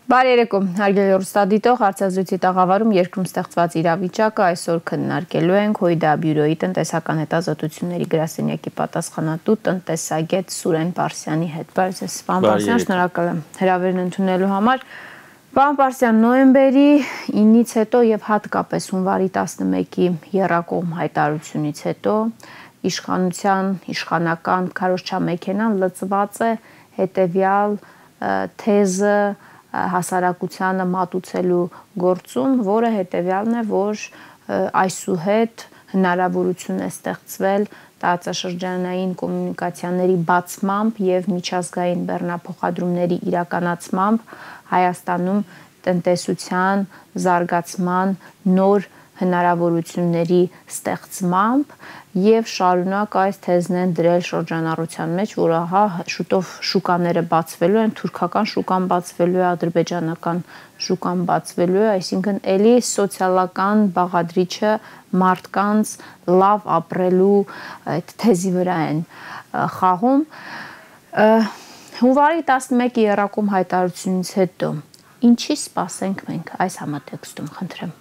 Բարի երեկո, հարգելի հեռուստադիտող, հարցազրույցի տաղավարում երկրում ստեղծված իրավիճակը այսօր քննարկելու ենք ՀՅԴ բյուրոյի տնտեսական հետազոտությունների գրասենյակի պատասխանատու տնտեսագետ Սուրեն Պարսյանի հետ։ Բարև ձեզ, պարոն Պարսյան, շնորհակալ եմ հրավերն ընդունելու համար։ Պարոն Պարսյան, նոյեմբերի 9-ից հետո եւ հատկապես հունվարի 11-ի եռակողմ հայտարարությունից հետո իշխանական քարոզչամեքենան լծված է հետեւյալ թեզը հասարակությանը մատուցելու գործում, որը հետևյալն է, որ այսուհետ հնարավորություն է ստեղծվել տարածաշրջանային կոմունիկացիաների բացմամբ եւ միջազգային բեռնափոխադրումների իրականացմամբ Հայաստանում տնտեսության զարգացման նոր հնարավորությունների ստեղծմամբ եւ շարունակ այս թեզն են դրել շրջանառության մեջ, որ ահա շուտով շուկաները բացվելու են, թուրքական շուկան բացվելու է, ադրբեջանական շուկան բացվելու է, այսինքն էլի սոցիալական բաղադրիչը մարդկանց լավ ապրելու այդ թեզի վրա են խաղում։ Հունվարի 11-ի եռակողմ հայտարարությունից հետո ինչի սպասենք մենք այս համատեքստում, խնդրեմ։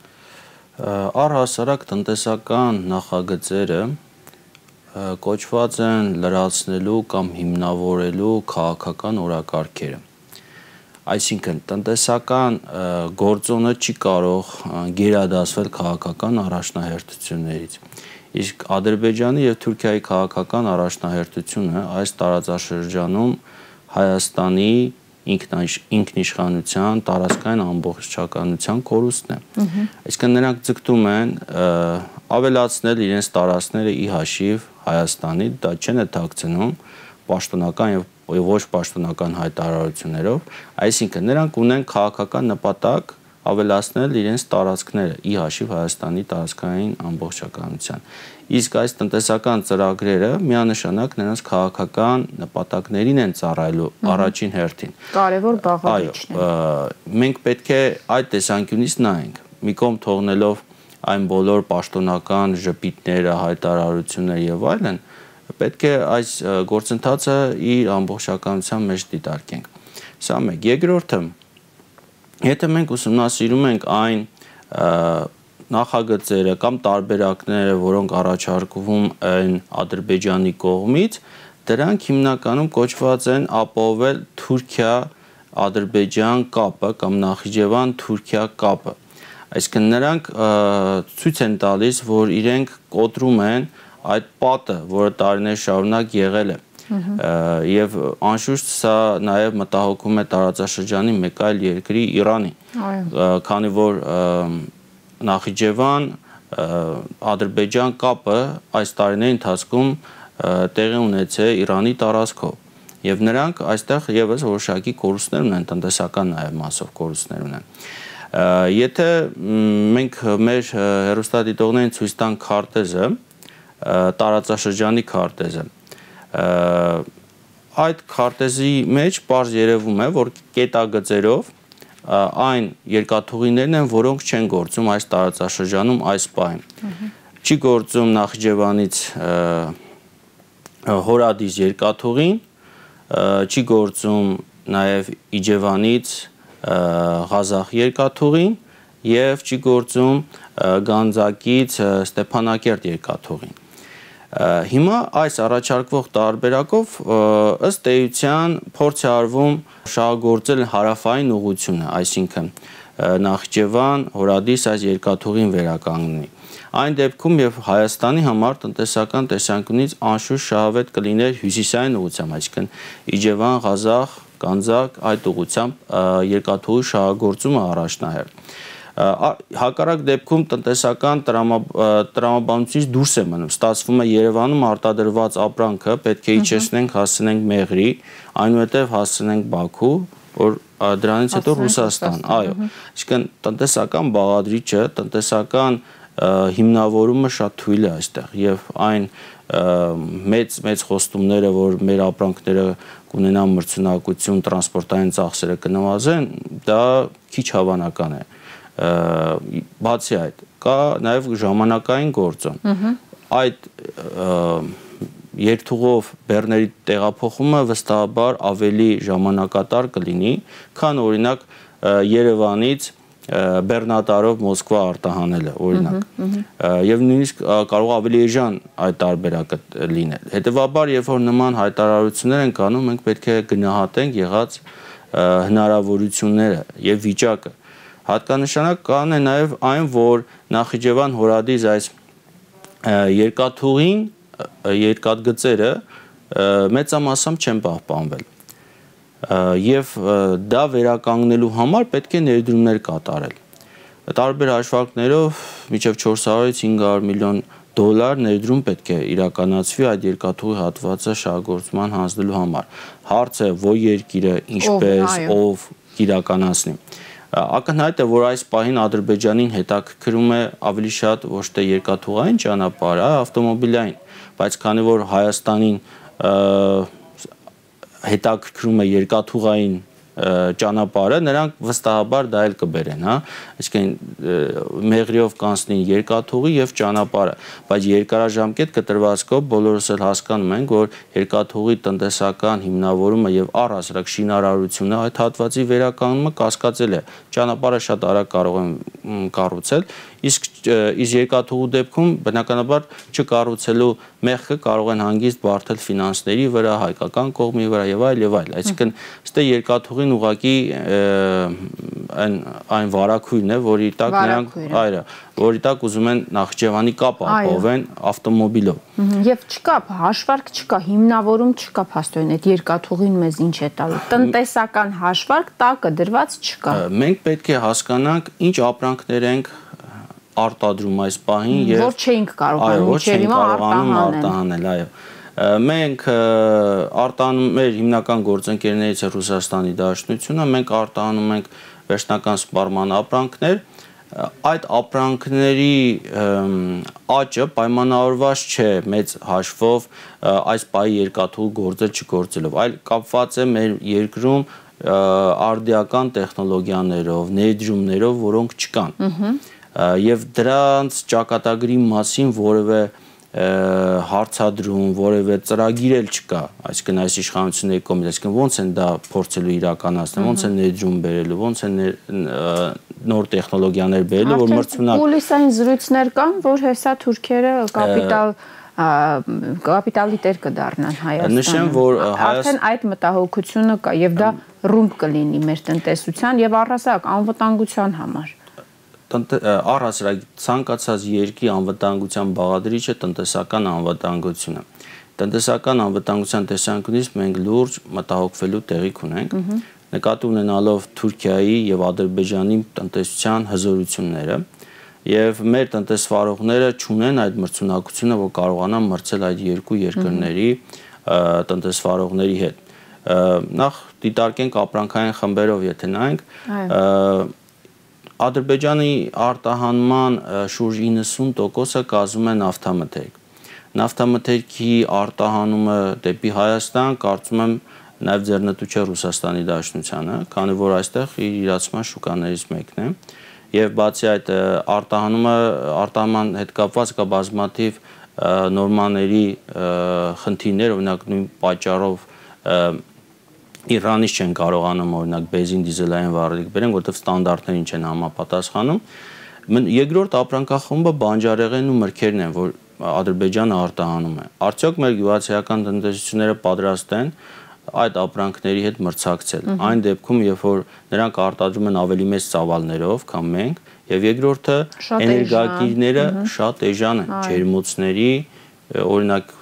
Առհասարակ տնտեսական նախագծերը կոչված են լրացնելու կամ հիմնավորելու քաղաքական օրակարգերը։ Այսինքն տնտեսական գործոնը չի կարող գերադասվել քաղաքական առաջնահերթություններից։ Իսկ Ադրբեջանի եւ Թուրքիայի քաղաքական առաջնահերթությունը այս տարածաշրջանում Հայաստանի ինքնիշխանության, տարածքային ամբողջականության կորուստն է։ Այսինքն նրանք ձգտում են ավելացնել իրենց տարածքները ի հաշիվ Հայաստանի, դա չեն թաքցնում պաշտոնական եւ ոչ պաշտոնական հայտարարություններով, այսինքն նրանք ունեն քաղաքական նպատակ ավելացնել իրենց տարածքները ի հաշիվ Հայաստանի տարածքային ամբողջականության։ Իսկ այս տնտեսական ծրագրերը միանշանակ նրանց քաղաքական նպատակներին են ծառայելու առաջին հերթին։ Կարևոր բաղադրիչն է։ Մենք պետք է այդ տեսանկյունից նայենք, մի կողմ թողնելով այն բոլոր պաշտոնական ժպիտները, հայտարարությունները եւ այլն, պետք է այս գործընթացը իր ամբողջականության մեջ դիտարկենք։ Սա մեկ։ Երկրորդը, եթե մենք ուսումնասիրում ենք այն նախագծերը կամ տարբերակները, որոնք առաջարկվում են Ադրբեջանի կողմից, դրանք հիմնականում կոչված են ապահովել Թուրքիա-Ադրբեջան կապը կամ Նախիջևան-Թուրքիա կապը։ Այսինքն նրանք ցույց են տալիս, որ իրենք կոտրում են այդ պատը, որը տարիներ շարունակ եղել է։ Եվ անշուշտ սա նաև մտահոգում է տարածաշրջանի մեկ այլ երկրի Իրանի, քանի որ Նախիջևան Ադրբեջան կապը այս տարիների ընթացքում տեղի ունեցել Իրանի տարածքով եւ նրանք այստեղ եւս որոշակի կորուստներ ունեն, տնտեսական նաեւ մասով կորուստներ ունեն։ Եթե մենք մեր հեռուստադիտողներին ցույց տանք քարտեզը, տարածաշրջանի քարտեզը, այդ քարտեզի մեջ պարզ երևում է, որ կետագծերով այն երկաթուղիներն են, որոնք չեն գործում այս տարածաշրջանում այս պահին։ Չի գործում Նախիջևանից Հորադիս երկաթուղին, չի գործում նաև Իջևանից Ղազախ երկաթուղին եւ չի գործում Գանձակից Ստեփանակերտ երկաթուղին։ Հիմա այս առաջարկվող տարբերակով ըստ էության փորձ է արվում շահագործել հարավային ուղղությունը, այսինքն Նախիջևան, Հորադիս այս երկաթուղին վերականգնի։ Այն դեպքում եւ Հայաստանի համար տնտեսական տեսանկյունից անշուշտ շահավետ կլիներ հյուսիսային ուղղությամբ, այսինքն Իջևան, Ղազախ, Գանձակ այդ ուղղությամբ երկաթուղի շահագործումը առաջնահերթ։ Հակառակ դեպքում տնտեսական տրամաբանությունից դուրս է մնում, ստացվում է Երևանում արտադրված ապրանքը պետք է իջեցնենք, հասցնենք Մեղրի, այնուհետև հասցնենք Բաքու, որ դրանից հետո Ռուսաստան, այո, այսինքն տնտեսական բաղադրիչը, տնտեսական հիմնավորումը շատ թույլ է այստեղ եւ այն մեծ խոստումները, որ մեր ապրանքները կունենան մրցունակություն, տրանսպորտային ծախսերը կնվազեն, դա քիչ հավանական է։ Բացի այդ, կա նաև ժամանակային գործոն։ Այդ երթուղով բեռների տեղափոխումը վստահաբար ավելի ժամանակատար կլինի, քան օրինակ Երևանից Բեռնատարով Մոսկվա արտահանելը, օրինակ։ Եվ նույնիսկ կարող ավելի էժան այդ տարբերակը լինել։ Հետևաբար, երբ որ նման հայտարարություններ են կանում, մենք պետք է գնահատենք եղած հնարավորությունները եւ վիճակը։ Հատկանշական է նաեւ այն, որ Նախիջևան Հորադիս այս երկաթուղին, երկաթգծերը մեծամասամբ չեն պահպանվել։ Եվ դա վերականգնելու համար պետք է ներդրումներ կատարել։ Տարբեր հաշվարկներով մինչև 400-ից 500 միլիոն դոլար ներդրում պետք է իրականացվի այդ երկաթուղի հատվածը շահգործման հանձնելու համար։ Հարց է, որ երկիրը ինչպես, ով իրականացնի։ Ակնհայտ է, որ այս պահին Ադրբեջանին հետաքրքրում է ավելի շատ ոչ թե երկաթուղային ճանապարհը, ավտոմոբիլային, բայց քանի որ Հայաստանին հետաքրքրում է երկաթուղային ճանապարհը, նրանք վստահաբար դա էլ կբերեն, հա, այսինքն մեղրիով կանցնի երկաթուղի եւ ճանապարհը, բայց երկարաժամկետ կտրվածքով բոլորս էլ հասկանում ենք, որ երկաթուղի տնտեսական հիմնավորումը եւ առհասարակ շինարարությունը այդ հատվածի վերականգնումը կասկածել է, ճանապարհը շատ արագ կարող են կառուցել, իսկ երկաթուղու դեպքում բնականաբար չկառուցելու մեղքը կարող են հանգիստ բարթել ֆինանսների վրա, հայկական կողմի վրա եւ այլ եւ այլ, այսինքն ստե երկաթուղին ուղղակի այն վարակույրն է, որի տակ նրանք որի տակ ուզում են Նախիջևանի կապ ապահովեն ավտոմոբիլով։ Եվ չկա հաշվարկ, չկա հիմնավորում, չկա փաստորեն այդ երկաթուղին մեզ ինչ է տալու։ Տնտեսական հաշվարկ տակը դրված չկա։ Մենք պետք է հասկանանք ինչ ապրանքներ ենք արտադրում այս պահին եւ որ չէինք կարողանում մինչեւ հիմա արտահանել, այո։ Մենք մեր հիմնական գործընկերներից է Ռուսաստանի Դաշնությունը, մենք արտահանում ենք վերջնական սպառման ապրանքներ, այդ ապրանքների աճը պայմանավորված չէ մեծ հաշվով այս պահի երկաթուղու գործել չգործելով, այլ կապված է մեր երկրում արդիական տեխնոլոգիաներով, ներդրումներով, որոնք չկան։ Եվ դրանց ճակատագրի մասին որևէ հարցադրում, որևէ ծրագիր էլ չկա, այսինքն այս իշխանությունների կողմից, այսինքն ոնց են դա փորձելու իրականացնել, ոնց են ներդրում բերելու, ոնց են նոր տեխնոլոգիաներ բերելու, որ մրցունակ Պոլիսային զրույցներ կան, որ հեսա թուրքերը կապիտալի տեր կդառնան Հայաստանը։ Նշեմ, որ արդեն այդ մտահոգությունը կա եւ դա ռումբ կլինի մեր տնտեսության եւ առհասարակ անվտանգության համար։ Առհասարակ ցանկացած երկրի անվտանգության բաղադրիչը տնտեսական անվտանգությունը։ Տնտեսական անվտանգության տեսանկյունից մենք լուրջ մտահոգվելու տեղիք ունենք, նկատի ունենալով Թուրքիայի եւ Ադրբեջանի տնտեսության հզորությունները, եւ մեր տնտեսվարողները չունեն այդ մրցունակությունը, որ կարողանան մրցել այդ երկու երկրների տնտեսվարողների հետ։ Նախ դիտարկենք ապրանքային խմբերով, եթե նայենք, Ադրբեջանի արտահանման շուրջ 90%-ը կազմում է նավթամթերք։ Նավթամթերքի արտահանումը դեպի Հայաստան, կարծում եմ, նաև ձեռնտու չէ Ռուսաստանի Դաշնությանը, քանի որ այստեղ իր իրացման շուկաներից մեկն է։ Եվ բացի այդ արտահանման հետ կապված կա բազմաթիվ նորմաների խնդիրներ, օրինակ նույն պատճառով Իրանից չեն կարողանում օրինակ բենզին դիզելային վառելիք բերեն, որովհետև ստանդարտներին չեն համապատասխանում։ Երկրորդ ապրանքախումբը բանջարեղենն ու մրգերն են, որ Ադրբեջանը արտահանում է։ Արդյոք մեր գյուղացիական տնտեսությունները պատրաստ են այդ ապրանքների հետ մրցակցել։ Այն դեպքում, երբ որ նրանք արտադրում են ավելի մեծ ծավալներով, քան մենք, եւ երկրորդը էներգակիրները շատ էժան են, ջերմոցների, օրինակ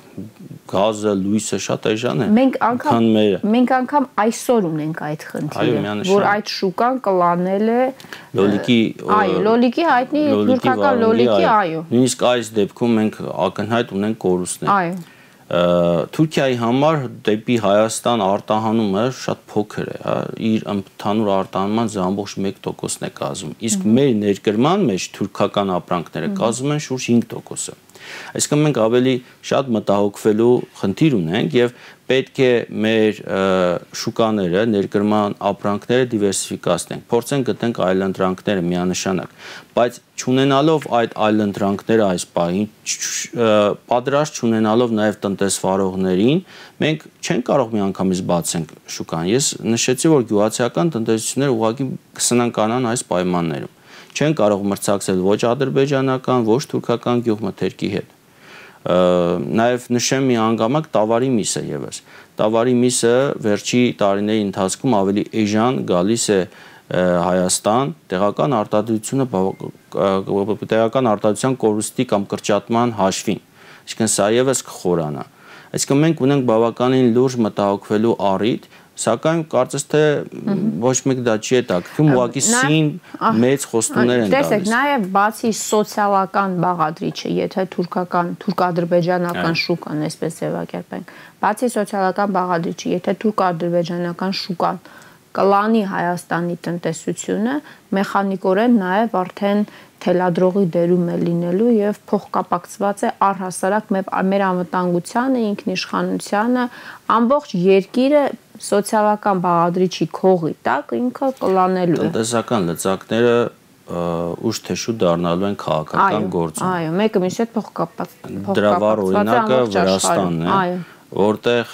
գազը, լույսը շատ էժան է։ Մենք անգամ այսօր ունենք այդ խնդիրը, որ այդ շուկան կլանել է լոլիկի հայտնի թուրքական լոլիկի, այո։ Նույնիսկ այս դեպքում մենք ակնհայտ ունենք կորուստներ։ Թուրքիայի համար դեպի Հայաստան արտահանումը շատ փոքր է, հա, իր ընդհանուր արտահանման ամբողջ 1%-ն է կազմում, իսկ մեր ներկրման մեջ թուրքական ապրանքները կազմում են շուրջ 5%-ը։ Այսինքն մենք ավելի շատ մտահոգվելու խնդիր ունենք եւ պետք է մեր շուկաները, ներկրման ապրանքները դիվերսիֆիկացնենք, փորձենք գտնենք այլընտրանքները միանշանակ, բայց չունենալով այդ այլընտրանքները այս պահին, պատրաստ չունենալով նաև տնտեսվարողներին, մենք չենք կարող միանգամից բացենք շուկան։ Ես նշեցի, որ գյուղացիական տնտեսությունները ուղղակի կսնանկանան այս պայմաններում։ Չեն կարող մրցակցել ոչ ադրբեջանական, ոչ թուրքական գյուղմթերքի հետ։ Նաև նշեմ մի հանգամանք տավարի միսը եւս։ Տավարի միսը վերջի տարիների ընթացքում ավելի էժան գալիս է Հայաստան, տեղական արտադրության կորուստի կամ կրճատման հաշվին։ Այսինքն սա եւս կխորանա։ Այսինքն մենք ունենք բավականին լուրջ մտահոգվելու առիթ, սակայն կարծես թե ոչ մեկ դա չի հետաքրքրում, ուղղակի սին մեծ խոստումներ են տալիս։ Տեսեք, նաև բացի սոցիալական բաղադրիչը, եթե թուրք-ադրբեջանական շուկան, այսպես ձևակերպենք, բացի սոցիալական բաղադրիչը, եթե թուրք-ադրբեջանական շուկան կլանի Հայաստանի տնտեսությունը, մեխանիկորեն նաև արդեն թելադրողի դերում է լինելու եւ փոխկապակցված է առհասարակ մեր անվտանգությանը, ինքնիշխանությանը, ամբողջ երկիրը սոցիալական բաղադրիչի քողի տակ ինքը կլանելու է։ Տնտեսական լծակները ուշ թե շուտ դառնալու են քաղաքական գործոն։ Այո, մեկը մյուսի հետ փոխկապակցված է։ Դրա վառ օրինակը Վրաստանն է, որտեղ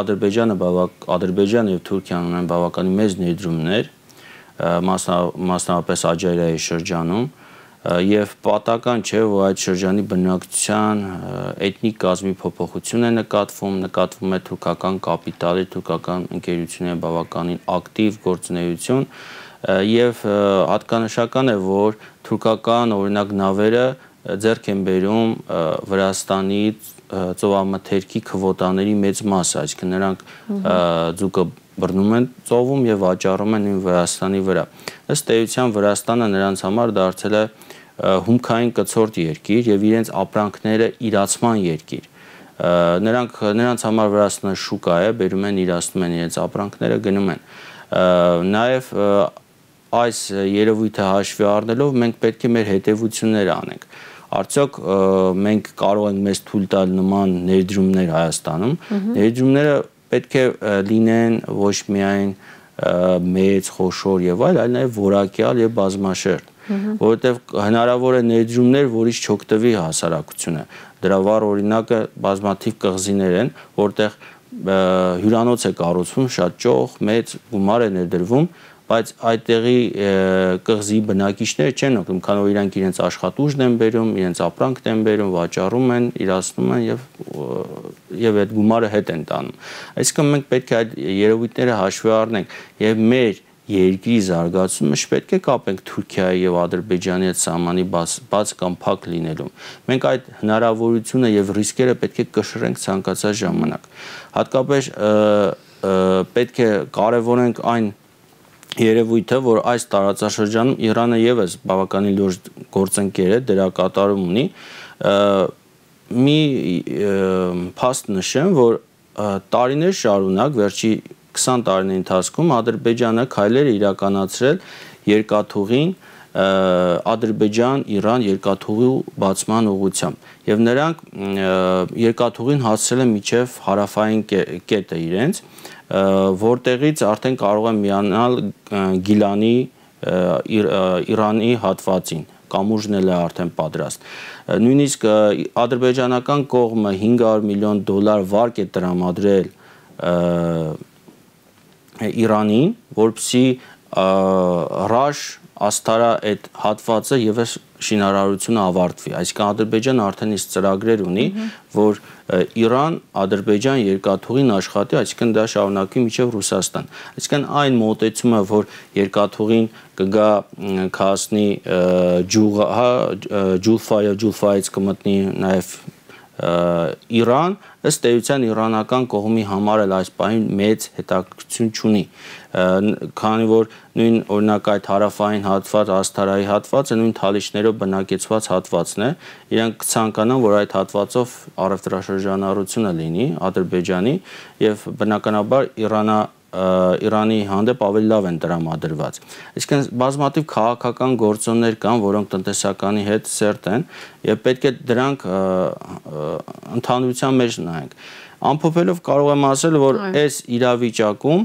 Ադրբեջանը եւ Թուրքիան ունեն բավականին մեծ ներդրումներ, մասնավորապես Աջարիայի շրջանում, եւ պատական չէ, որ այդ շրջանի բնակչության էթնիկ կազմի փոփոխություն է նկատվում է թուրքական կապիտալի, թուրքական ընկերությունների բավականին ակտիվ գործունեություն եւ հատկանշական է, որ թուրքական օրինակ նավերը ձեռք են բերում Վրաստանից ծովամթերքի քվոտաների մեծ մասը, այսինքն նրանք ձուկը բռնում են ծովում եւ վաճառում են Վրաստանի վրա։ Ըստ էության Վրաստանը նրանց համար դարձել է հումքային կցորդ երկիր եւ իրենց ապրանքները իրացման երկիր։ Նրանց համար Վրաստանը շուկա է, բերում են, իրացնում են իրենց ապրանքները, գնում են։ Նաեւ այս երևույթը հաշվի առնելով մենք պետք է մեր հետևությունները անենք։ Արդյոք մենք կարող ենք մեզ թույլ տալ նման ներդրումներ Հայաստանում։ Ներդրումները պետք է լինեն ոչ միայն մեծ, խոշոր եւ այլ, այլ նաեւ որակյալ եւ բազմաշերտ, որովհետեւ հնարավոր է ներդրումներ, որից չօգտվի հասարակությունը։ Դրա վառ օրինակը բազմաթիվ կղզիներ են, որտեղ հյուրանոց է կառուցվում, շատ ճոխ, մեծ գումար է ներդրվում, բայց այդտեղի կղզի բնակիչները չեն օգտվում, քանի որ իրանք իրենց աշխատուժն են բերում, իրենց ապրանքն են բերում, վաճառում են, իրացնում են եւ այդ գումարը հետ են տանում։ Այսինքն մենք պետք է այդ երևույթները հաշվի առնենք եւ մեր երկրի զարգացումը չպետք է կապենք Թուրքիայի եւ Ադրբեջանի հետ սահմանի բաց կամ փակ լինելուն։ Մենք այդ հնարավորությունը եւ ռիսկերը պետք է կշռենք ցանկացած ժամանակ։ Հատկապես պետք է կարևորենք այն երևույթը, որ այս տարածաշրջանում Իրանը եւս բավականին լուրջ գործընկեր է, դերակատարում ունի, մի փաստ նշեմ, որ տարիներ շարունակ վերջի 20 տարիների ընթացքում Ադրբեջանը քայլեր է իրականացրել երկաթուղին Ադրբեջան-Իրան երկաթուղի բացման ուղղությամբ եւ նրանք երկաթուղին հասցրել են մինչեւ հարավային կետը իրենց, որտեղից արդեն կարող են միանալ Գիլանի Իրանի հատվածին, կամուրջն էլ է արդեն պատրաստ։ Նույնիսկ ադրբեջանական կողմը $500 միլիոն վարկ է տրամադրել Իրանին, որպեսզի Ռաշ Աստարա այդ հատվածը եւս շինարարությունը ավարտվի։ Այսինքն Ադրբեջանը արդեն իսկ ծրագրեր ունի, որ Իրան-Ադրբեջան երկաթուղին աշխատի, այսինքն դա շարունակվի մինչև Ռուսաստան։ Այսինքն այն մոտեցումը, որ երկաթուղին կգա քասնի Ջուլֆա եւ Ջուլֆայից կմտնի նաեւ Իրան, ըստ էության իրանական կողմի համար էլ այս պահին մեծ հետաքրքրություն չունի, քանի որ նույն օրինակ այդ հարավային հատված, Աստարայի հատվածը նույն թալիչներով բնակեցված հատվածն է, իրենք կցանկանան, որ այդ հատվածով առևտրաշրջանառությունը լինի Ադրբեջանի եւ բնականաբար Իրանի հանդեպ ավելի լավ են տրամադրված։ Այսինքն բազմաթիվ քաղաքական գործոններ կան, որոնք տնտեսականի հետ սերտ են եւ պետք է դրանք ընդհանրության մեջ նայենք։ Ամփոփելով կարող եմ ասել, որ այս իրավիճակում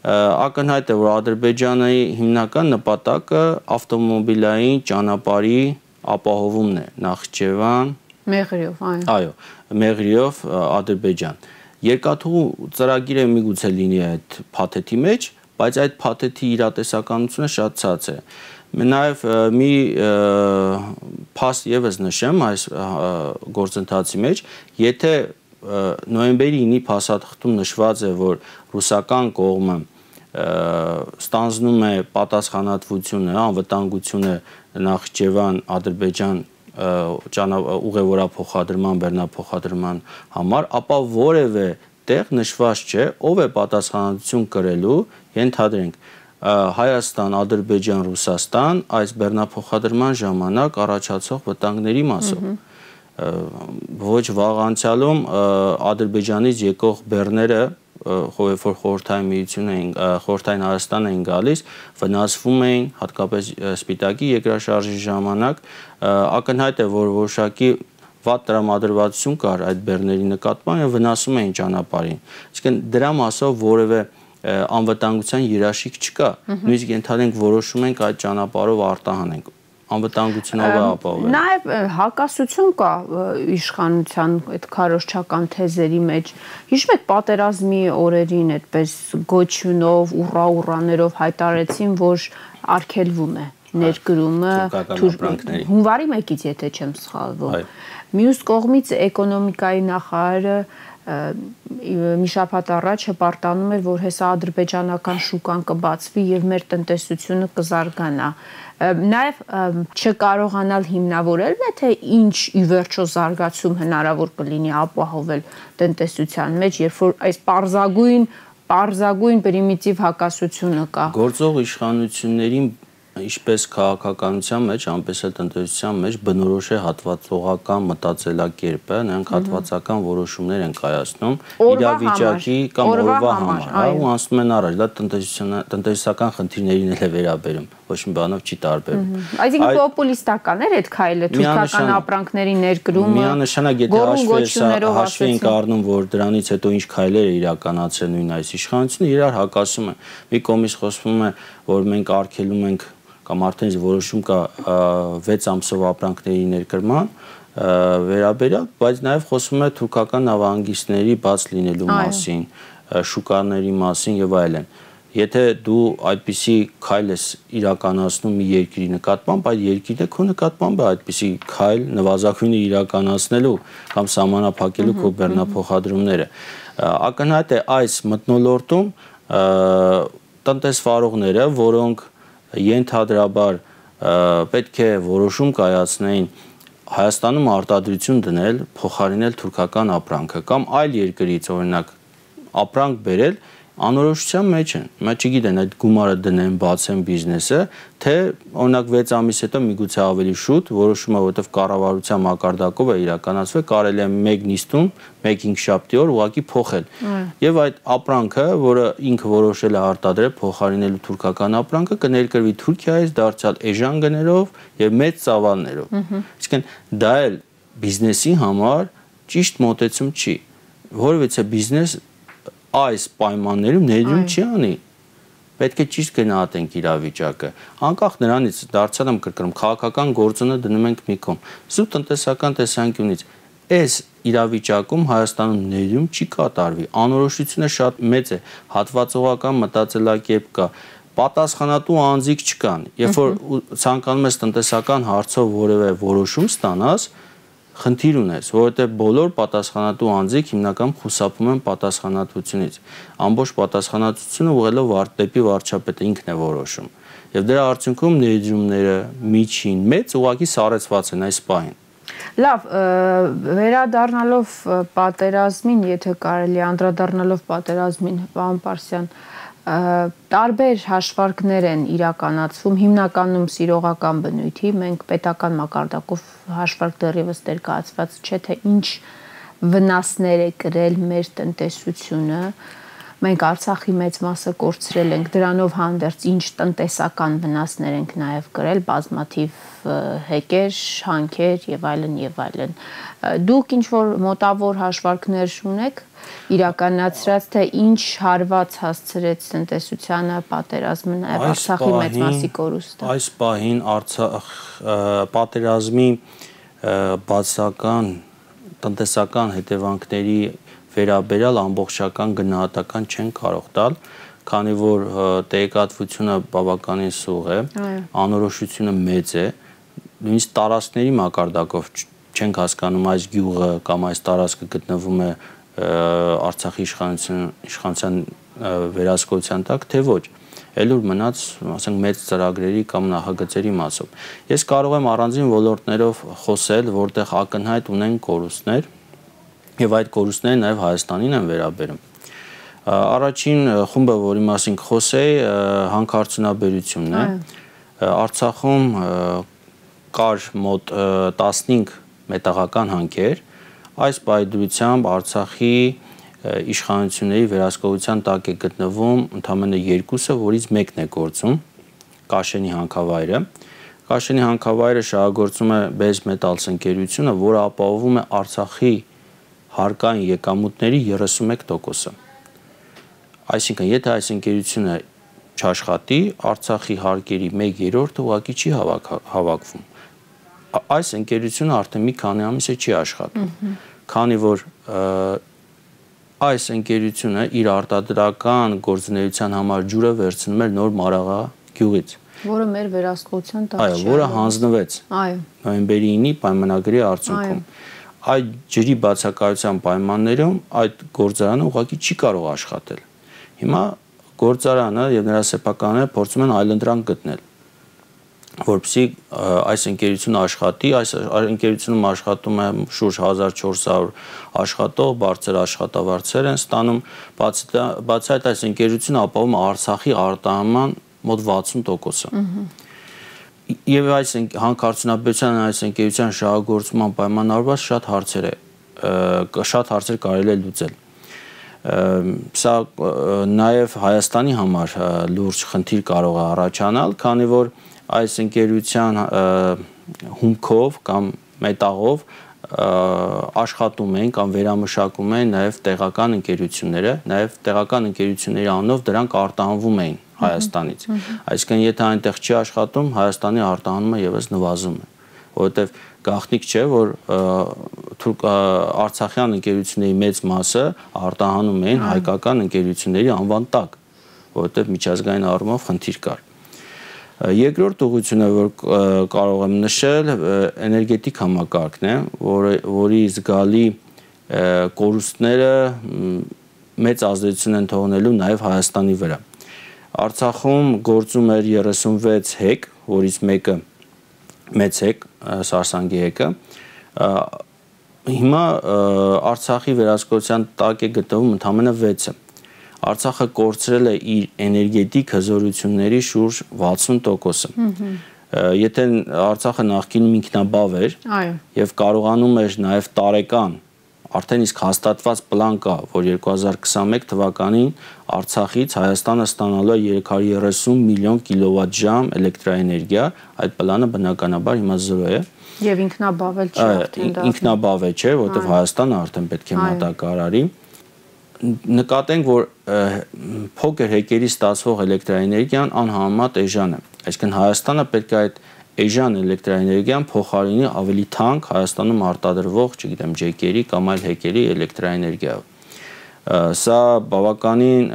ակնհայտ է, որ Ադրբեջանի հիմնական նպատակը ավտոմոբիլային ճանապարհի ապահովումն է Նախիջևան, Մեղրիով, այո, Մեղրիով Ադրբեջան։ Երկաթուղու ծրագիրը միգուցե լինի այդ փաթեթի մեջ, բայց այդ փաթեթի իրատեսականությունը շատ ցած է։ Նաև մի փաստ եւս նշեմ այս գործընթացի մեջ, եթե նոյեմբերի 9-ի փաստաթղթում նշված է, որ ռուսական կողմը ստանձնում է պատասխանատվությունը, անվտանգությունը Նախիջևան, Ադրբեջան ուղևորափոխադրման, բեռնափոխադրման համար, ապա որևէ տեղ նշված չէ, ով է պատասխանատվություն կրելու, ենթադրենք Հայաստան, Ադրբեջան, Ռուսաստան այս բեռնափոխադրման ժամանակ առաջացող վտանգների մասով։ Ոչ վաղ անցյալում Ադրբեջանից եկող բեռները, որ խորհրդային միություն էին, խորհրդային Հայաստան էին գալիս, վնասվում էին, հատկապես Սպիտակի երկրաշարժի ժամանակ, ակնհայտ է, որ որոշակի վատ տրամադրվածություն կար այդ բեռների նկատմամբ եւ վնասում էին ճանապարհին։ Իսկ դրա մասով որևէ անվտանգության երաշխիք չկա։ Նույնիսկ ենթադրենք որոշում ենք այդ ճանապարհով արտահանենք։ Անվտանգությունով է ապահովել։ Նաև հակասություն կա իշխանության այդ քարոզչական թեզերի մեջ։ Հիշում եք պատերազմի օրերին այդպես գոչյունով, ուռաներով հայտարարեցին, որ արգելվում է ներկրումը հունվարի 1-ից, եթե չեմ սխալվում։ Մյուս կողմից էկոնոմիկայի նախարարը մի շաբաթ առաջ հպարտանում էր, որ հեսա ադրբեջանական շուկան կբացվի եւ մեր տնտեսությունը կզարգանա։ Նաեւ չկարողանալ հիմնավորելն է, թե ինչ ի վերջո զարգացում հնարավոր կլինի ապահովել տնտեսության մեջ, երբ որ այս պարզագույն պրիմիտիվ հակասությունը կա։ Գործող իշխանություններին ինչպես քաղաքականության մեջ, այնպես էլ տնտեսության մեջ բնորոշ է հատվածողական մտածելակերպը, նրանք հատվածական որոշումներ են կայացնում իրավիճակի կամ օրվա համար, ու անցնում են առաջ, դա տնտեսական խնդիրներին էլ է վերաբերում, ոչ մի բանով չի տարբերում։ Այսինքն պոպուլիստական էր այդ քայլը, թուրքական ապրանքների ներկրումը, միանշանակ եթե հաշվի ենք առնում, որ դրանից հետո ինչ քայլեր է իրականացել նույն այս իշխանությունը, իրար հակասում է։ Մի կողմից խոսվում է, որ մենք արգելում ենք կամ արդեն որոշում կա 6 ամսով ապրանքների ներկրման վերաբերյալ, բայց նաև խոսվում է թուրքական նավահանգիստների բաց լինելու մասին, շուկաների մասին եւ այլն։ Եթե դու այդպիսի քայլ ես իրականացնում մի երկրի նկատմամբ, այդ երկիրը քո նկատմամբ է այդպիսի քայլ նվազագույնը իրականացնելու կամ սահմանափակելու քո բեռնափոխադրումները։ Ակնհայտ է այս մթնոլորտում տնտեսվարողները, որոնք ենթադրաբար պետք է որոշում կայացնեին Հայաստանում արտադրություն դնել, փոխարինել թուրքական ապրանքը կամ այլ երկրից օրինակ ապրանք բերել, անորոշության մեջ են։ Մենք չգիտեն այդ գումարը դնեն, բացեն բիզնեսը, թե օրինակ 6 ամիս հետո միգուցե ավելի շուտ որոշումը, որովհետև կառավարության մակարդակով է իրականացվել, կարելի է մեկ նիստում, մեկ հինգշաբթի օր ուղղակի փոխել։ Եվ այդ ապրանքը, որը ինքը որոշել է արտադրել, փոխարինելու թուրքական ապրանքը, կներկրվի Թուրքիայից դարձյալ էժան գներով եւ մեծ ծավալներով։ Իսկ դա էլ բիզնեսի համար ճիշտ մոտեցում չի։ Որովհետեւ բիզնես այս պայմաններում ներդրում չի անի։ Պետք է ճիշտ գնահատենք իրավիճակը։ Անկախ նրանից դարձյալ եմ կրկնում, քաղաքական գործոնը դնում ենք մի կողմ։ Սուտ տնտեսական տեսանկյունից այս իրավիճակում Հայաստանում ներդրում չի կատարվի։ Անորոշությունը շատ մեծ է, հատվածողական մտածելակերպ կա, պատասխանատու անձիկ չկան։ Երբ որ ցանկանում ես տնտեսական հարցով որևէ որոշում ստանաս, խնդիր ունես, որովհետև բոլոր պատասխանատու անձիկ հիմնականում խուսափում են պատասխանատվությունից։ Ամբողջ պատասխանատվությունը ուղղելով դեպի վարչապետը ինքն է որոշում։ Եվ դրա արդյունքում ներդրումները միջին մեծ ուղղակի սառեցված են այս պահին։ Լավ, վերադառնալով պատերազմին, եթե կարելի անդրադառնալով պատերազմին, պարոն Պարսյան, տարբեր հաշվարկներ են իրականացվում, հիմնականում սիրողական բնույթի, մենք պետական մակարդակով հաշվարկ դեռևս ներկայացված չէ, թե ինչ վնասներ է կրել մեր տնտեսությունը, մենք Արցախի մեծ մասը կորցրել ենք, դրանով հանդերձ ինչ տնտեսական վնասներ ենք նաև կրել, բազմաթիվ հեկեր, հանքեր եւ այլն։ Դուք ինչ որ մոտավոր հաշվարկներ ունեք իրականացրած, թե ինչ հարված հասցրեց տնտեսությանը պատերազմը, նաև Արցախի մեծ մասի կորուստը։ Այս պահին Արցախ պատերազմի բացական տնտեսական հետևանքների վերաբերյալ ամբողջական գնահատական չեն կարող տալ, քանի որ տեղեկատվությունը բավականին սուղ է, անորոշությունը մեծ է, նույնիսկ տարածքների մակարդակով չենք հասկանում այս գյուղը կամ այս տարածքը գտնվում է Արցախի իշխանության վերահսկողության տակ, թե ոչ, այլ որ մնաց, ասենք, մեծ ծրագրերի կամ նախագծերի մասով։ Ես կարող եմ առանձին ոլորտներով խոսել, որտեղ ակնհայտ ունեն կորուստներ, եւ այդ կորուստները նաեւ Հայաստանին են վերաբերում։ Առաջին խումբը, որի մասին կխոսեի, հանքարդյունաբերությունն է։ Արցախում կար մոտ 15 մետաղական հանքեր, այս պայդրությամբ Արցախի իշխանությունների վերահսկողության տակ է գտնվում ընդամենը 2-ը, որից մեկն է գործում, Կաշենի հանքավայրը։ Կաշենի հանքավայրը շահագործում է Base Metals ընկերությունը, որը ապահովում է Արցախի հարկային եկամուտների 31%-ը։ Այսինքն, եթե այս ընկերությունը չաշխատի, Արցախի հարկերի 1/3-ը ուղղակի չի հավաքվում։ Այս ընկերությունը արդեն մի քանի ամիս է չի աշխատում, քանի որ այս ընկերությունը իր արտադրական գործունեության համար ջուրը վերցնում էր Նոր Մարաղա գյուղից, որը մեր վերահսկողության տակ չէ։ Այո, որը հանձնվեց նոյեմբերի 9-ի պայմանագրի արդյունքում։ Այդ ջրի բացակայության պայմաններում այդ գործարանը ուղղակի չի կարող աշխատել։ Հիմա գործարանը եւ նրա սեփականները փորձում են այլընտրանք գտնել, որպեսզի այս ընկերությունը աշխատի, այս ընկերությունում աշխատում է շուրջ 1400 աշխատող, բարձր աշխատավարձեր են ստանում, բացի այդ այս ընկերությունը ապահովում է Արցախի արտահանման մոտ 60%-ը։ Եվ այս հանքարդյունաբերության այս ընկերության շահագործման պայմանավորված շատ հարցեր կարելի է լուծել։ Սա նաև Հայաստանի համար լուրջ խնդիր կարող է առաջանալ, քանի որ այս ընկերության հումքով կամ մետաղով աշխատում են կամ վերամշակում են նաև տեղական ընկերությունները, նաև տեղական ընկերությունների անունով դրանք արտահանվում էին Հայաստանից։ Այսինքն, եթե այնտեղ չի աշխատում, Հայաստանի արտահանումը եւս նվազում է, որովհետեւ գաղտնիք չէ, որ արցախյան ընկերությունների մեծ մասը արտահանում էին հայկական ընկերությունների անվան տակ, որովհետեւ միջազգային առումով խնդիր կար։ Երկրորդ ուղղությունը, որ կարող եմ նշել, էներգետիկ համակարգն է, որի զգալի կորուստները մեծ ազդեցություն են թողնելու նաև Հայաստանի վրա։ Արցախում գործում էր 36 հեկ, որից մեկը մեծ հեկ, Սարսանգի հեկը։ Հիմա Արցախի վերահսկողության տակ է գտնվում ընդամենը 6-ը։ Արցախը կորցրել է իր էներգետիկ հզորությունների շուրջ 60%-ը։ Եթե Արցախը նախկինում ինքնաբավ էր եւ կարողանում էր նաեւ տարեկան արդեն իսկ հաստատված պլան կա, որ 2021 թվականին Արցախից Հայաստանը ստանալու է 330 միլիոն կիլովատ-ժամ էլեկտրաէներգիա, այդ պլանը բնականաբար հիմա 0 է։ Եվ ինքնաբավել չէ արդեն դա։ Ինքնաբավել չէ, որովհետև Հայաստանը արդեն պետք է մատակարարի։ Նկատենք, որ փոքր հեկերի ստացվող էլեկտրաէներգիան անհամեմատ էժան է։ Այսինքն Հայաստանը պետք է այդ էժան էլեկտրաէներգիան փոխարինի ավելի թանկ Հայաստանում արտադրվող, չգիտեմ, ջեկերի կամ այլ հեկերի էլեկտրաէներգիայով։ Սա բավականին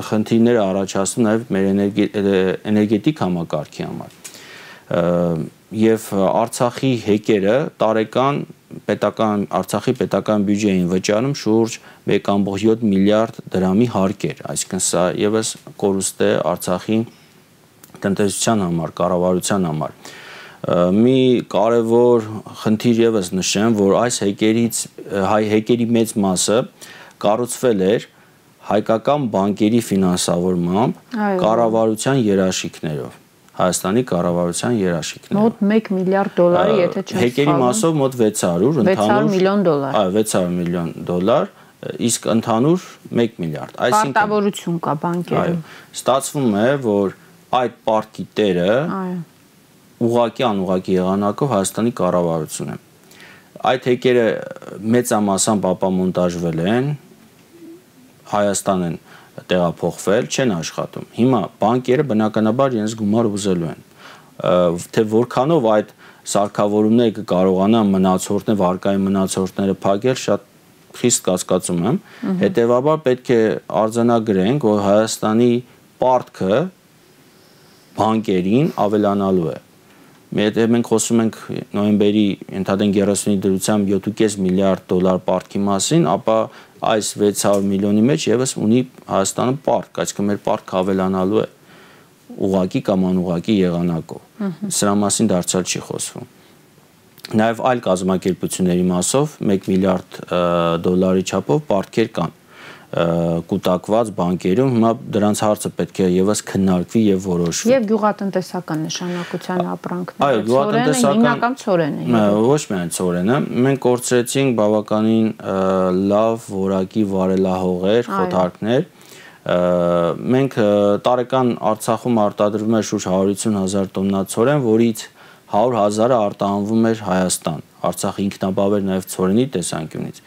խնդիրներ է առաջացնում նաև մեր էներգետիկ համակարգի համար։ Եվ Արցախի հեկերը տարեկան Արցախի պետական բյուջեին վճարում շուրջ 1.7 միլիարդ դրամի հարկեր, այսինքն սա եւս կորուստ է Արցախի տնտեսության համար, կառավարության համար։ Մի կարևոր խնդիր եւս նշեմ, որ այս հեկերի մեծ մասը կառուցվել էր հայկական բանկերի ֆինանսավորմամբ կառավարության երաշխիքներով։ Հայաստանի կառավարության երաշխիքներով։ Մոտ 1 միլիարդ դոլարի, եթե չեմ սխալվում։ Հեկերի մասով մոտ 600 միլիոն դոլար։ Այո, 600 միլիոն դոլար, իսկ ընդհանուր 1 միլիարդ։ Պարտավորություն կա բանկերում։ Ստացվում է, որ այդ պարտքի տերը ուղղակի անուղղակի եղանակով Հայաստանի կառավարությունն է։ Այդ հեկերը մեծամասամբ ապամոնտաժվել են, Հայաստան են տեղափոխվել, չեն աշխատում։ Հիմա բանկերը բնականաբար իրենց գումար ուզելու են։ Թե որքանով այդ սարքավորումները կկարողանան մնացորդներ, վարկային մնացորդները փակել, շատ խիստ կասկածում եմ։ Հետևաբար պետք է արձանագրենք, որ Հայաստանի պարտքը բանկերին ավելանալու է։ Մենք խոսում ենք նոյեմբերի ընդհանրեն 30-ի դրությամբ 7.5 միլիարդ դոլար պարտքի մասին, ապա այս 600 միլիոնի մեջ եւս ունի Հայաստանը պարտք, այսինքն մեր պարտքը ավելանալու է ուղղակի կամ անուղղակի եղանակով։ Սրա մասին դարձյալ չի խոսվում։ Նաև այլ կազմակերպությունների մասով 1 միլիարդ դոլարի չափով պարտքեր կան կուտակված բանկերում, հիմա դրանց հարցը պետք է եւս քննարկվի եւ որոշվի։ Եվ գյուղատնտեսական նշանակության ապրանքները։ Այո, գյուղատնտեսական հիմնական ցորենը։ Ոչ միայն ցորենը, մենք կորցրեցինք բավականին լավ որակի վարելահողեր, խոթարքներ։ Մենք տարեկան Արցախում արտադրվում էր շուրջ 150,000 տոննա ցորեն, որից 100,000-ը արտահանվում էր Հայաստան։ Արցախը ինքնաբավ էր նաև ցորենի տեսանկյունից։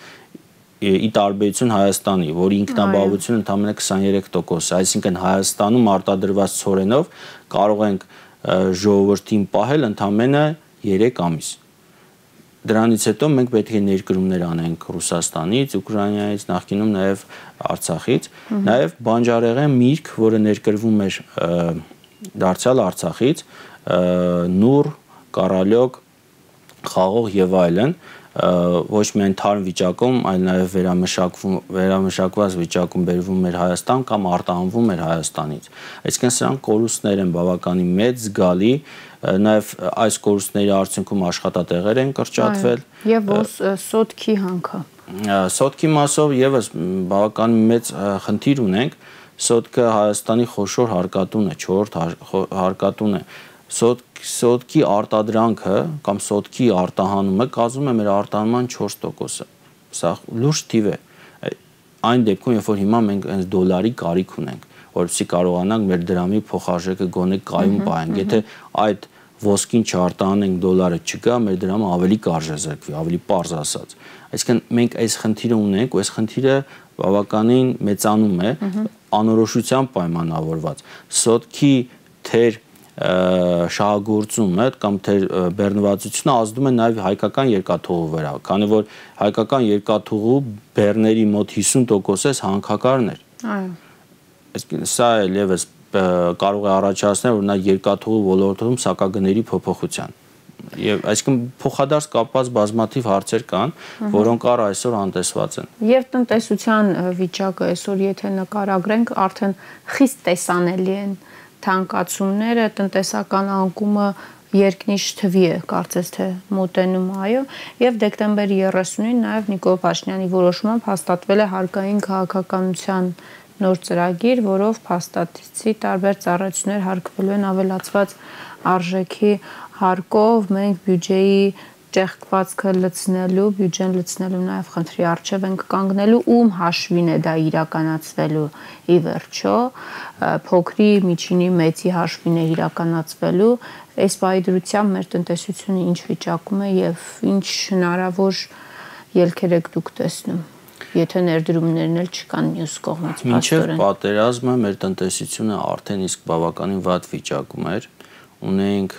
Ի տարբերություն Հայաստանի, որի ինքնաբավությունը ընդամենը 23%, այսինքն Հայաստանում արտադրված ցորենով կարող ենք ժողովրդին պահել ընդամենը 3 ամիս։ Դրանից հետո մենք պետք է ներկրումներ անենք Ռուսաստանից, Ուկրաինայից, նախկինում նաև Արցախից, նաև բանջարեղեն միրգ, որը ներկրվում էր դարձյալ Արցախից, նուռ, կարալյոկ, խաղող եւ այլն, ոչ միայն թարմ վիճակում, այլ նաև վերամշակված վիճակում բերվում էր Հայաստան կամ արտահանվում էր Հայաստանից։ Այսինքն սրանք կորուստներ են բավականին մեծ, զգալի, նաև այս կորուստների արդյունքում աշխատատեղեր են կրճատվել։ Եվ սոտքի հանքը։ Սոտքի մասով եւս բավականին մեծ խնդիր ունենք։ Սոտքը Հայաստանի խոշոր հարկատուն է, 4-րդ հարկատուն է։ Սոտքի արտադրանքը կամ սոտքի արտահանումը կազմում է մեր արտահանման 4%-ը։ Սա լուրջ թիվ է։ Այն դեպքում, երբ որ հիմա մենք այս դոլարի կարիք ունենք, որովհետեւ կարողանանք մեր դրամի փոխարժեքը գոնե կայուն պահենք։ Եթե այդ ոսկին չարտահանենք, դոլարը չկա, մեր դրամը ավելի կարժեզրկվի, ավելի պարզ ասած։ Այսինքն մենք այս խնդիրը ունենք, ու այս խնդիրը բավականին մեծանում է, անորոշությամբ պայմանավորված։ Սոտքի թեր շահագործումը կամ բեռնվածությունը ազդում է նաև հայկական երկաթուղու վրա, քանի որ հայկական երկաթուղու բեռների մոտ 50%-ը հանքակարն էր։ Այո։ Այսինքն սա էլ եւս կարող է առաջացնել օրինակ երկաթուղու ոլորտում սակագների փոփոխության։ Եվ այսինքն փոխադարձ կապված բազմաթիվ հարցեր կան, որոնք առ այսօր անտեսված են։ Եվ տնտեսության վիճակը այսօր եթե նկարագրենք, արդեն խիստ տեսանելի են թանկացումները, տնտեսական անկումը երկնիշ թվի է, կարծես թե մոտենում, այո, եւ դեկտեմբերի 30-ին նաեւ Նիկոլ Փաշինյանի որոշմամբ հաստատվել է հարկային քաղաքականության նոր ծրագիր, որով փաստացի տարբեր ծառայություններ հարկվելու են ավելացված արժեքի հարկով, մենք բյուջեի ճեղքվածքը լցնելու, բյուջեն լցնելու նաև խնդրի առջև ենք կանգնելու, ում հաշվին է դա իրականացվելու ի վերջո, փոքրի, միջինի, մեծի հաշվին է իրականացվելու, այս պայդրությամբ մեր տնտեսությունը ինչ վիճակում է եւ ինչ հնարավոր ելքեր եք դուք տեսնում, եթե ներդրումներն էլ չկան մյուս կողմից պաստորեն։ Մինչև պատերազմը մեր տնտեսությունը արդեն իսկ բավականին վատ վիճակում էր, ունենք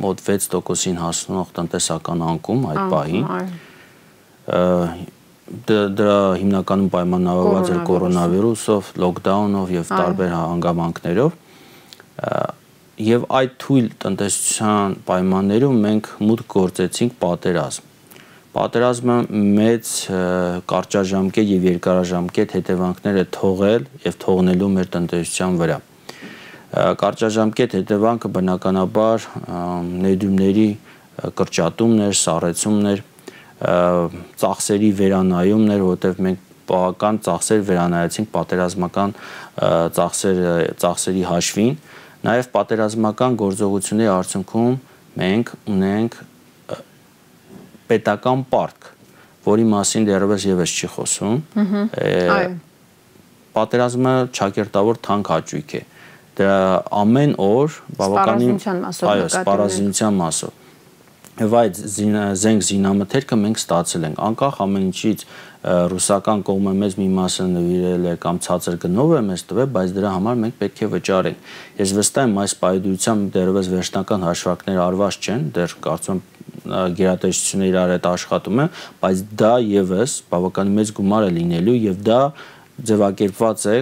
մոտ 6%-ին հասնող տնտեսական անկում այդ պահին։ Դրա հիմնականում պայմանավորված էր կորոնավիրուսով, լոկդաունով եւ տարբեր հանգամանքներով։ Եվ այդ թույլ տնտեսության պայմաններում մենք մուտք գործեցինք պատերազմ։ Պատերազմը մեծ կարճաժամկետ եւ երկարաժամկետ հետևանքներ է թողել եւ թողնելու մեր տնտեսության վրա։ Կարճաժամկետ հետևանքը բնականաբար ներդրումների կրճատումներ, սառեցումներ, ծախսերի վերանայումներ, որտեղ մենք բավական ծախսեր վերանայեցինք պատերազմական ծախսերի հաշվին, նաև պատերազմական գործողությունների արդյունքում մենք ունենք պետական պարտք, որի մասին դեռևս եւս չի խոսում։ Պատերազմը ճակերտավոր թանկ հաճույք է։ Դրա ամեն օր բավականին սպառազինության մասով։ Եվ այդ զենք զինամթերքը մենք ստացել ենք, անկախ ամեն ինչից ռուսական կողմը մեզ մի մասը նվիրել է կամ ցածր գնով է մեզ տվել, բայց դրա համար մենք պետք է վճարենք։ Ես վստահ եմ այս պայմանությամբ դեռևս վերջնական հաշվարկները արված չեն, դեռ կարծում եմ գերատեսչությունները իրար հետ աշխատում են, բայց դա եւս բավականին մեծ գումար է լինելու եւ դա ձևակերպված է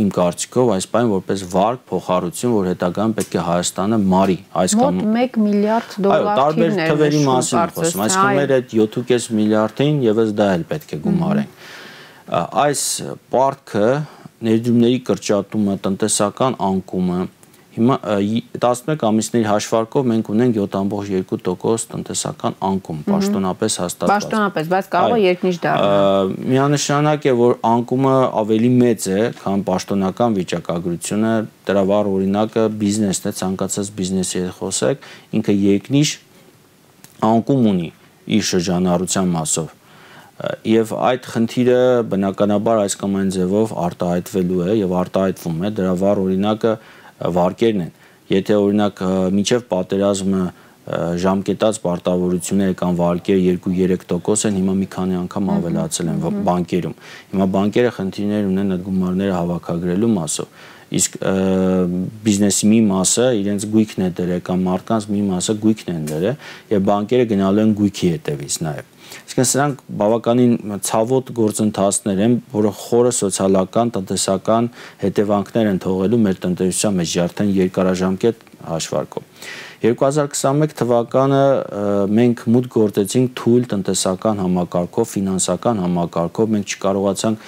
իմ կարծիքով այս բան որպես վարկ փոխառություն, որ հետագայում պետք է Հայաստանը մարի այս կամ մոտ 1 միլիարդ դոլար տարբեր թվերի մասին խոսում, այսինքն մեր այդ 7.5 միլիարդին եւս դա էլ պետք է գումարենք։ Այս պարտքը, ներդրումների կրճատումը, տնտեսական անկումը, հիմա 11 ամիսների հաշվարկով մենք ունենք 7.2% տնտեսական անկում, պաշտոնապես հաստատված։ Պաշտոնապես, բայց կարող է երկնիշ դառնալ։ Միանշանակ է, որ անկումը ավելի մեծ է, քան պաշտոնական վիճակագրությունը, դրա վառ օրինակը բիզնեսն է, ցանկացած բիզնեսի հետ խոսեք, ինքը երկնիշ անկում ունի իր շրջանառության մասով։ Եվ այդ խնդիրը բնականաբար այս կամ այն ձևով արտահայտվելու է եւ արտահայտվում է, դրա վառ օրինակը վարկերն են։ Եթե օրինակ մինչև պատերազմը ժամկետած պարտավորությունները կամ վարկերը 2-3% են, հիմա մի քանի անգամ ավելացել են բանկերում։ Հիմա բանկերը խնդիրներ ունեն այդ գումարները հավաքագրելու մասով։ Իսկ բիզնեսի մի մասը իրենց գույքն է դրել կամ մարդկանց մի մասը գույքն են դրել եւ բանկերը գնալու են գույքի հետևից նաեւ։ Իսկ սրանք բավականին ցավոտ գործընթացներ են, որը խորը սոցիալական, տնտեսական հետևանքներ են թողելու մեր տնտեսության մեջ արդեն երկարաժամկետ հաշվարկով։ 2021 թվականը մենք մուտք գործեցինք թույլ տնտեսական համակարգով, ֆինանսական համակարգով, մենք չկարողացանք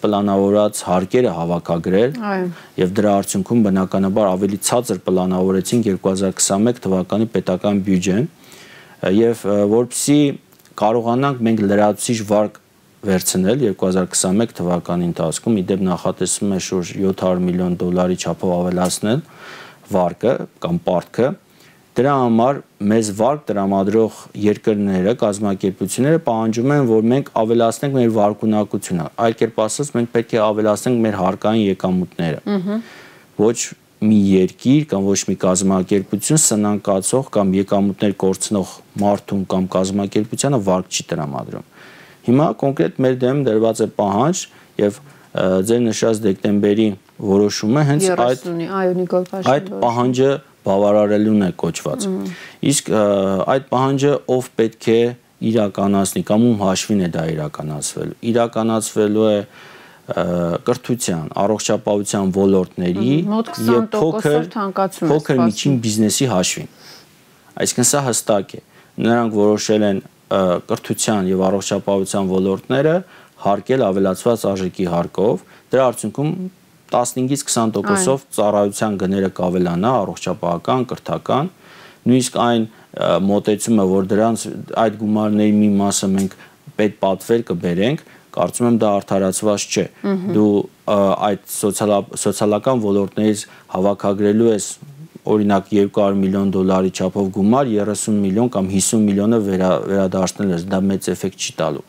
պլանավորած հարկերը հավաքագրել եւ դրա արդյունքում բնականաբար ավելի ցածր պլանավորեցինք 2021 թվականի պետական բյուջեն եւ որպեսզի կարողանանք մենք լրացուցիչ վարկ վերցնել 2021 թվականի ընթացքում իդեպ նախատեսվում է շուրջ 700 միլիոն դոլարի չափով ավելացնել վարկը կամ պարտքը դրա համար մեզ վարկ տրամադրող երկրները, կազմակերպությունները պահանջում են, որ մենք ավելացնենք մեր վարկունակությունը, այլ կերպ ասած մենք պետք է ավելացնենք մեր հարկային եկամուտները։ Ոչ մի երկիր կամ ոչ մի կազմակերպություն սնանկացող կամ եկամուտներ կորցնող մարդուն կամ կազմակերպությանը վարկ չի տրամադրում։ Հիմա կոնկրետ մեր դեմ դրված է պահանջ եւ ձեր նշած դեկտեմբերի որոշումը հենց այդ պահանջը բավարարելուն է կոչված։ Իսկ այդ պահանջը ով պետք է իրականացնի կամ ում հաշվին է դա իրականացվելու։ Իրականացվելու է կրթության, առողջապահության ոլորտների եւ փոքր միջին բիզնեսի հաշվին։ Այսինքն սա հստակ է։ Նրանք որոշել են կրթության եւ առողջապահության ոլորտները հարկել ավելացված արժեքի հարկով, դրա արդյունքում 15-ից 20%-ով ծառայության գները կավելանա առողջապահական, կրթական, նույնիսկ այն մոտեցումը, որ դրանց այդ գումարների մի մասը մենք պետպատվեր կբերենք, կարծում եմ դա արդարացված չէ։ Դու այդ սոցիալական ոլորտներից հավաքագրելու ես օրինակ 200 միլիոն դոլարի չափով գումար, 30 միլիոն կամ 50 միլիոնը վերադարձնել ես, դա մեծ էֆեկտ չի տալու։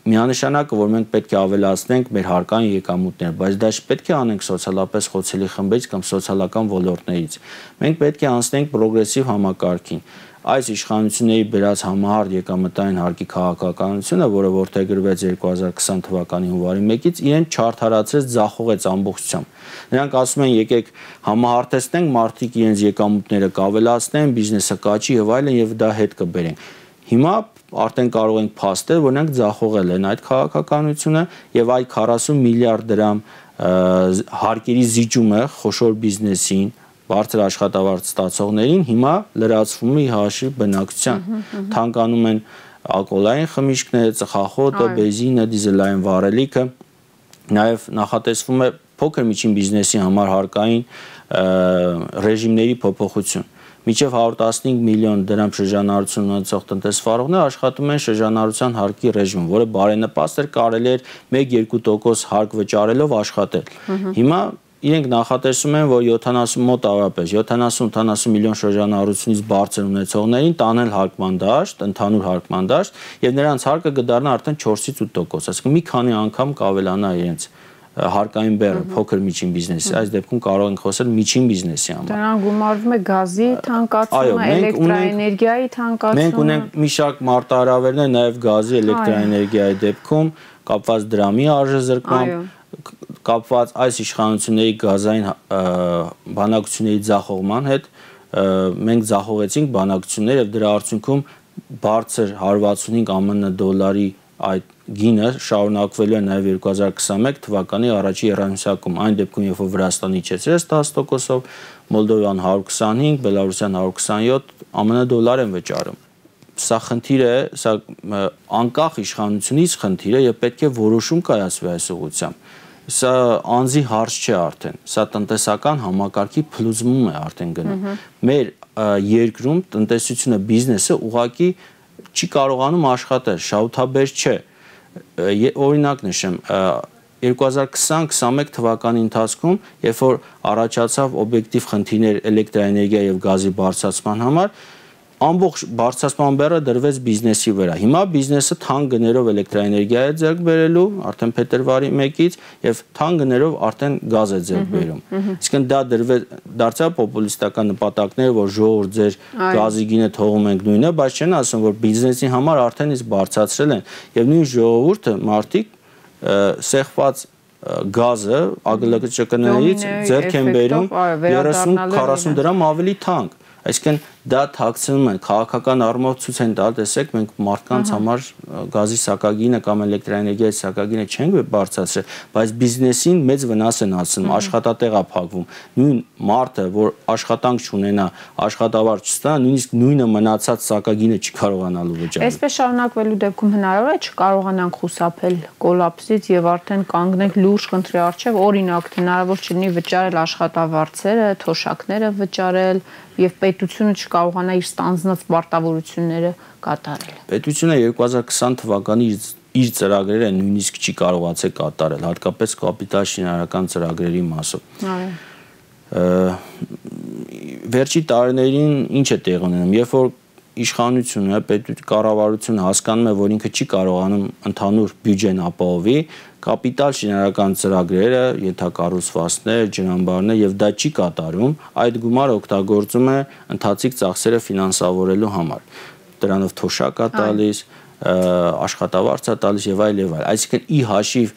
Միանշանակը, որ մենք պետք է ավելացնենք մեր հարկային եկամուտները, բայց դա չպետք է անենք սոցիալապես խոցելի խմբերից կամ սոցիալական ոլորտներից։ Մենք պետք է անցնենք պրոգրեսիվ համակարգին։ Այս իշխանությունների բերած համահարթ եկամտային հարկի քաղաքականությունը, որը որդեգրվեց 2020 թվականի հունվարի 1-ից, իրեն չարդարացրեց, ձախողեց ամբողջությամբ։ Նրանք ասում են, եկեք համահարթեցնենք, մարդիկ իրենց եկամուտները կավելացնեն, բիզնեսը կաճի եւ այլն եւ դա հետ կբերենք։ Հիմա արդեն կարող ենք փաստել, որ նրանք ձախողել են այդ քաղաքականությունը եւ այդ 40 միլիարդ դրամ հարկերի զիջումը խոշոր բիզնեսին, բարձր աշխատավարձ ստացողներին հիմա լրացվում է հաշվի բնակչության։ Թանկանում են ալկոհոլային խմիչքները, ծխախոտը, բենզինը, դիզելային վառելիքը, նաեւ նախատեսվում է փոքր միջին բիզնեսի համար հարկային ռեժիմների փոփոխություն։ Մինչև 115 միլիոն դրամ շրջանառություն ունեցող տնտեսվարողներ աշխատում են շրջանառության հարկի ռեժիմում, որը բարենպաստ էր, կարելի էր 1-2% հարկ վճարելով աշխատել։ Հիմա իրենք նախատեսում են, որ 70 մոտ առապես 70-80 միլիոն շրջանառությունից բարձր ունեցողներին տանել հարկման դաշտ, ընդհանուր հարկման դաշտ, եւ նրանց հարկը կդառնա արդեն 4-ից 8%, այսինքն մի քանի անգամ կավելանա իրենց հարկային բեռը փոքր միջին բիզնեսի, այս դեպքում կարող ենք խոսել միջին բիզնեսի համար։ Դրան գումարվում է գազի թանկացումը, էլեկտրաէներգիայի թանկացումը։ Մենք ունենք մի շարք մարտահրավերներ նաև գազի, էլեկտրաէներգիայի դեպքում, կապված դրամի արժեզրկմամբ, կապված այս իշխանությունների գազային բանակցությունների ձախողման հետ, մենք ձախողեցինք բանակցությունները եւ դրա արդյունքում բարձր 165 ԱՄՆ դոլարի այդ գինը շարունակվելու է նաև 2021 թվականի առաջի եռամիսակում, այն դեպքում, երբ որ Վրաստանը իջեցրեց 10%-ով, Մոլդովան 125, Բելարուսյան 127 ԱՄՆ դոլար են վճարում։ Սա խնդիր է, սա անկախ իշխանությունից խնդիր է եւ պետք է որոշում կայացվի այս ուղղությամբ։ Սա անձի հարց չէ արդեն, սա տնտեսական համակարգի փլուզում է արդեն գնում։ Մեր երկրում տնտեսությունը, բիզնեսը ուղղակի չի կարողանում աշխատել, շահութաբեր չէ։ Օրինակ նշեմ, 2020-21 թվականի ընթացքում, երբ որ առաջացավ օբյեկտիվ խնդիրներ էլեկտրաէներգիայի եւ գազի բարձրացման համար, ամբողջ բարձրացման բեռը դրվեց բիզնեսի վրա։ Հիմա բիզնեսը թանկ գներով էլեկտրաէներգիա է ձեռք բերելու արդեն փետրվարի 1-ից եւ թանկ գներով արդեն գազ է ձեռք բերում։ Իսկն դա դարձավ պոպուլիստական նպատակներ, որ ժողովուրդ ձեր գազի գինը թողում ենք նույնը, բայց չեն ասում, որ բիզնեսի համար արդեն իսկ բարձրացրել են եւ նույն ժողովուրդը մարդիկ սեղված գազը ԱԳԼԿ-ներից ձեռք են բերում 30-40 դրամ ավելի թանկ։ Այսինքն դա թաքցնում են, քաղաքական առումով ցույց են տալ, տեսեք, մենք մարդկանց համար գազի սակագինը կամ էլեկտրաէներգիայի սակագինը չենք բարձրացրել, բայց բիզնեսին մեծ վնաս են հասցնում, աշխատատեղ է փակվում։ Նույն մարդը, որ աշխատանք չունենա, աշխատավարձ չստանա, նույնիսկ նույնը մնացած սակագինը չի կարողանալու վճարել։ Այսպես շարունակվելու դեպքում հնարավոր է չկարողանանք խուսափել կոլապսից եւ արդեն կանգնենք լուրջ խնդրի առջեւ, օրինակ հնարավոր չլինի վճարել աշխատավարձերը, թոշակները վճարել եւ պետությունը չկարողանա իր ստանձնած պարտավորությունները կատարել։ Պետությունը 2020 թվականի իր ծրագրերը նույնիսկ չի կարողացել կատարել, հատկապես կապիտալ շինարարական ծրագրերի մասով։ Վերջի տարիներին ինչ է տեղ ունենում, երբ որ իշխանությունը, կառավարությունը հասկանում է, որ ինքը չի կարողանում ընդհանուր բյուջեն ապահովի, կապիտալ շինարարական ծրագրերը, ենթակառուցվածքներ, ջրամբարներ եւ դա չի կատարում, այդ գումարը օգտագործում է ընթացիկ ծախսերը ֆինանսավորելու համար։ Դրանով թոշակ է տալիս, աշխատավարձ է տալիս եւ այլ եւ այլ։ Այսինքն ի հաշիվ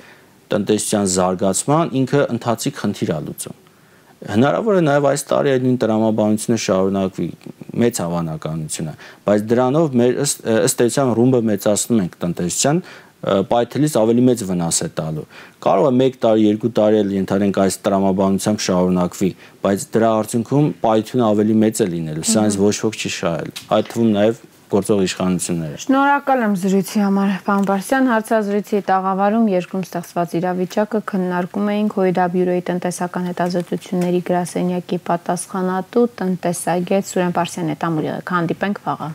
տնտեսության զարգացման ինքը ընթացիկ խնդիր է լուծում։ Հնարավոր է նաև այս տարի այդ նույն տրամաբանությունը շարունակվի, մեծ հավանականություն է, բայց դրանով մեր ըստ էության ռումբը մեծացնում ենք տնտեսության, պայթելից ավելի մեծ վնաս է տալու։ Կարող է 1 տարի, 2 տարի էլ ենթադրենք այս տրամաբանությամբ շարունակվի, բայց դրա արդյունքում պայթյունը ավելի մեծ է լինելու, սա ինձ ոչ ոք չի շահել, այդ թվում նաև գործող իշխանությունները։ Շնորհակալ եմ զրույցի համար, պարոն Բարսյան, հարցազրույցի տաղավարում երկրում ստեղծված իրավիճակը քննարկում էինք ՀՅԴ բյուրոյի տնտեսական հետազոտությունների գրասենյակի պատասխանատու տնտեսագետ Սուրեն Պարսյան հետ ամուրյալ։ Հանդիպենք վաղը։